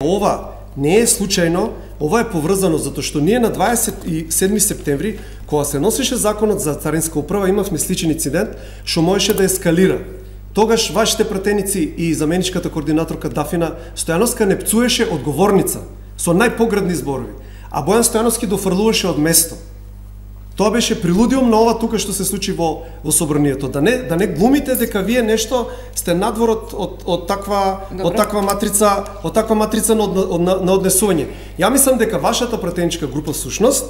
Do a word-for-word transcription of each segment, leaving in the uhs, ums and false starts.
ова не е случајно, ова е поврзано затоа што ние на дваесет и седми септември, кога се носеше законот за царинска управа, имавме сличен инцидент што можеше да ескалира. Тогаш вашите пратеници и заменичката координаторка Дафина Стојановска не пцуеше одговорница со најпоградни зборови, а Бојан Стојановски дофрлуваше од место. Тоа беше прелудиум на ова тука што се случи во во собранието. Да не да не глумите дека вие нешто сте надвор од од од таква Добре. од таква матрица, од таква матрица на, од, на, на однесување. Ја мислам дека вашата пратеничка група всушност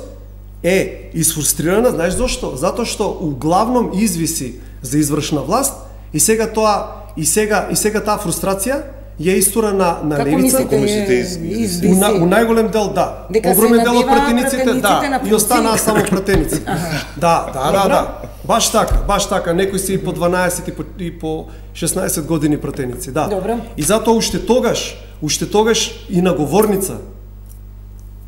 е изфрустрирана, знаеш зошто? Затоа што углавном извиси за извршна власт и сега тоа и сега и сега таа фрустрација ја истура на на Како левица. Како мислите извиси? У, на, у најголем дел да. Дека Огромен се дел од надеваа пратениците пратениците на да, и останаа само пратеници. Да, да, да, да. Баш така, баш така, некои се и по дванаесет и по, и по шеснаесет години пратеници, да. Добро. И затоа уште тогаш, уште тогаш и наговорница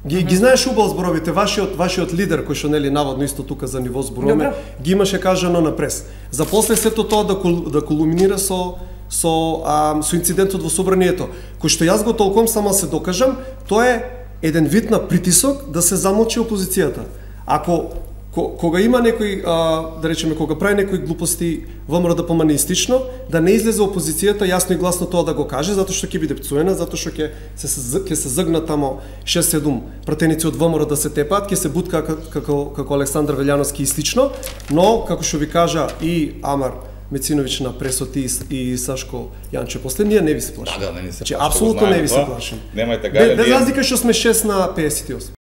Ги, ги знаеш убаво зборовите, вашиот вашиот лидер кој што нели наводно исто тука за ниво зборуваме, ги имаше кажано на прес. За после сето тоа да кул, да кулминира со со а, со инцидентот во собранието, кој што јас го толком само се докажам, тоа е еден вид на притисок да се замолчи опозицијата. Ако кога има некој, а, да речеме, кога прави некои глупости ВМРО да поманистично, да не излезе опозицијата јасно и гласно тоа да го каже, затоа што ќе биде пцуена, затоа што ќе се ќе се загнат тамо шест-седум пратеници од ВМРО да се тепаат, ќе се бутка како како Александар Велјановски и слично, но како што ви кажа и Амар Мециновиќ на пресот и, и Сашко Јанче после, ние не ви се плашим. Да, да, не ни се плашим. Апсолутно не ви се плашим. Немајте гајле. Без разлика што сме шест на педесет и осум.